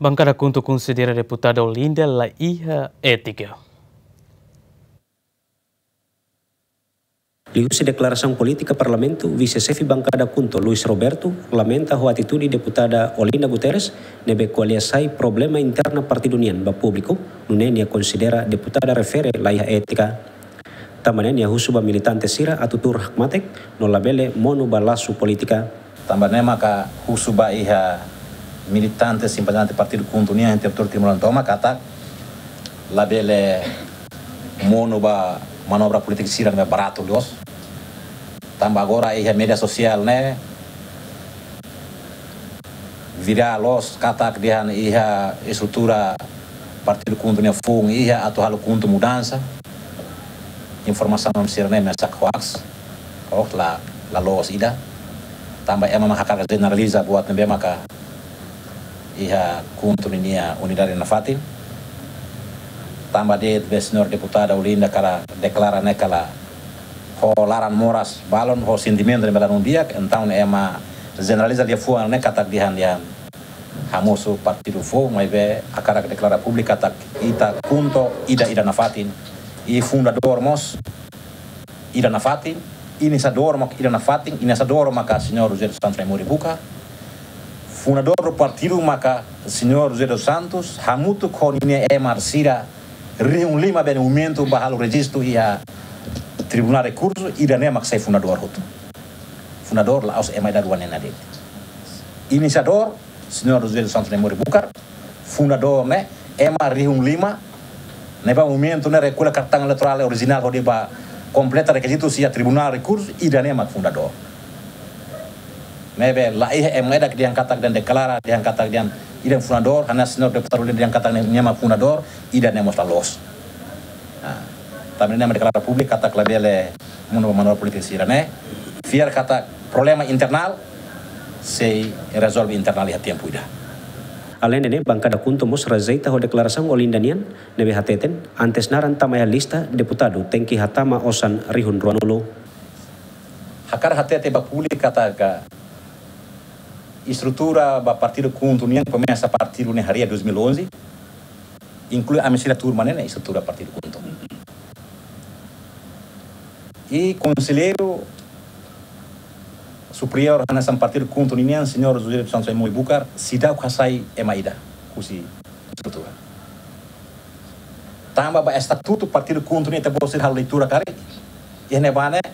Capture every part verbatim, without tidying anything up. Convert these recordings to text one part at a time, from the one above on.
Bankada KHUNTO konsidera deputada Olinda la iha étika. Liuhusi deklarasaun polítika Parlamentu, Vise-Xefe Bankada KHUNTO, Luis Roberto, lamenta ho atitude deputada Olinda Guterres, ne'ebé ko'alia sai problema interna partidu nian ba públiku, nune'e nia konsidera deputada refere la iha étika. Tanba ne'e nia husu ba militante sira atu tuur hakmatek, no labele monu ba lasu polítika. Tanba ne'e maka husu ba iha militante simpatizante partidu KHUNTO nian iha territóriu Timor laran tomak katak labele monu ba manobra polítika sira ne'ebé baratu loos. Tanba agora iha média sosiál ne'e virál loos katak dehan iha estrutura partidu KHUNTO nia foun iha atu halo KHUNTO mudansa. Informasaun sira-ne'e mesak hoax, hoax la, la loos ida. Tanba ema mak hakarak jeneraliza buat ne'ebé maka iha KHUNTO ninia unidade nafatin. Tanba de'it be señór deputada Olinda kala deklara ne'e kala ho laran moras balun, ho sentimentu ne'ebé ladún di'ak, entaun ema jeneraliza liafuan ne'e katak dehan, dehan hamosu partidu foun, maibé hakarak deklara públiku katak ita KHUNTO ida, ida nafatin. I fundadór mós ida nafatin, inisiadór mós ida nafatin, inisiadór maka señór José dos Santos Naimori Bucar. Fundadór do partidu maka señór José dos Santos, hamutuk ho ninia ema sira rihun lima be momentu ba halo rejistu iha Tribunál Rekursu, ida-ne'e mak sai fundadór hotu. Fundadór la'ós ema ida rua ne'e de'it. Inisiadór, señór José dos Santos Naimori Bucar, fundadór ne'e, ema rihun lima, ne'ebé momentu ne'e rekolla kartaun eleitorál orijinál hodi ba kompleta rekizitu iha Tribunál Rekursu, ida-ne'e mak fundadór. Ne'ebé la iha ema ida ke dehan katak dehan deklara, dehan katak dehan ida fundadór, hanesan señór deputadu dehan katak nia mak fundadór, ida-ne'e mós la loos. Ah, tanba ne'e mak deklara públiku katak labele monu ba manobra polítika sira-ne'e. Fiar katak problema internál sei rezolve internál iha tempu ida. Aleinde ne'e, bankada KHUNTO mós rejeita ho deklarasaun Olinda nian, ne'ebé hateten, antes naran tama iha lista deputadu, tenke hatama osan rihun ruanulu. Hakarak hatete ba públiku katak estrutura ba partidu KHUNTO nian komesa partidu ne'e harii dois mil e onze, inklui ami sira turma ne'e, ne'e estrutura partidu KHUNTO. I konselleiru superiór hanesan partidu KHUNTO nian, señór José dos Santos Naimori Bucar, seidauk hasai ema ida husi estrutura. Tanba ba estatutu partidu KHUNTO nian, ita-boot sira halo leitura karik, iha ne'ebá ne'e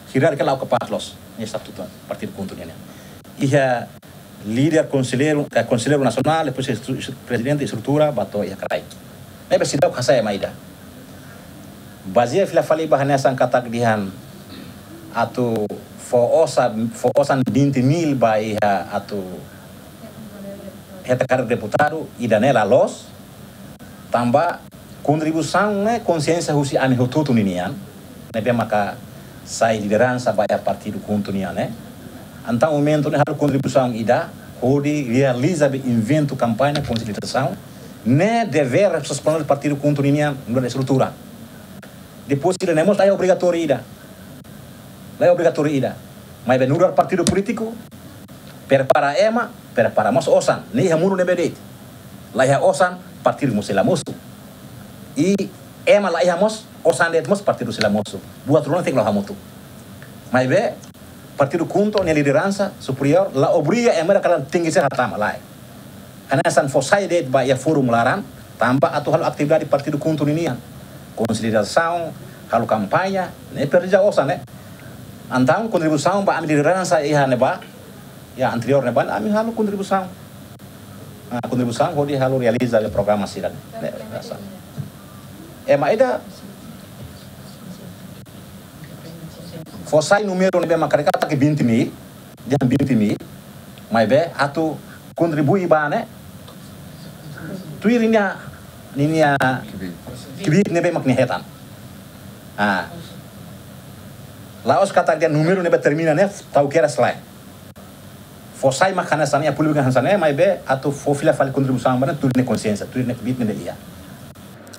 hierarkia la'o kapás loos, ne'e estatutu partidu KHUNTO nian. Iha líder konselleiru, eh, konselleiru nasionál, depois estru-, estru-, prezidente estrutura, ba to'o iha kraik. Ne'ebé seidauk hasai ema ida. Bazeia fila fali ba hanesan katak dehan atu fó osan, fó osan vinte mil ba iha atu hetan kader deputadu, ida-ne'e la loos. Tanba kontribuisaun ne'e konxiénsia husi ami hotu-hotu ninian, ne'ebé maka sai lideransa ba iha partidu KHUNTO nian ne'e. Entaun momentu ne'e halo kontribuisaun ida hodi realiza be eventu kampaña konsiénsia ne'e devér responsabilidade partidu KHUNTO ninian nu'udar estrutura. Depois ida-ne'e mós la iha obrigatóriu ida. La iha obrigatóriu ida. Maibé nu'udar partidu polítiku, prepara ema, prepara mós osan. Ne'e iha mundu ne'ebé de'it. La iha osan, partidu mós sei la mosu. I ema la iha mós, osan de'it mós partidu sei la mosu. Buat rua ne'e tenke la'o hamutuk. Maibé partidu KHUNTO nia lideransa superiór la obriga ema ida kalan tenke ser hatama, lae. Hanesan fó sai de'it ba iha fórum laran, tanba atu halo atividade partidu KHUNTO ninian. Konsolidasaun, halo kampaña, ne'e presiza osan ne'e. Entaun kontribuisaun ba ami lideransa iha ne'ebá, iha anteriór ne'ebá, ami halo kontribuisaun. Ah, kontribuisaun hodi halo realiza be programa sira-ne'e. Ne'e, biasa. Ema ida fó sai númeru ne'ebé mak karik katak vinte mil, dehan vinte mil, maibé atu kontribui ba ne'e, tuir ninia, ninia kbiit ne'ebé mak nia hetan. Ah. La'ós katak dehan númeru ne'ebé termina ne'e, tau keras lae. Fó sai mak hanesan ne'e, públiku hanesan ne'e, maibé atu fó fila fali kontribuisaun ba ne'e, tuir nia konxiénsia, tuir nia kbiit ne'ebé iha.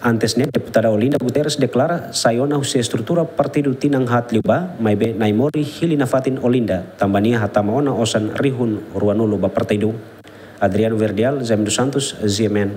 Antes ne'e, deputada Olinda Guterres deklara sai ona husi estrutura partidu tinan haat liubá, maibé Naimori hili nafatin Olinda, tanba nia hatama ona osan rihun ruanulu ba partidu. Adriano Verdial, Jaime dos Santos, G M N.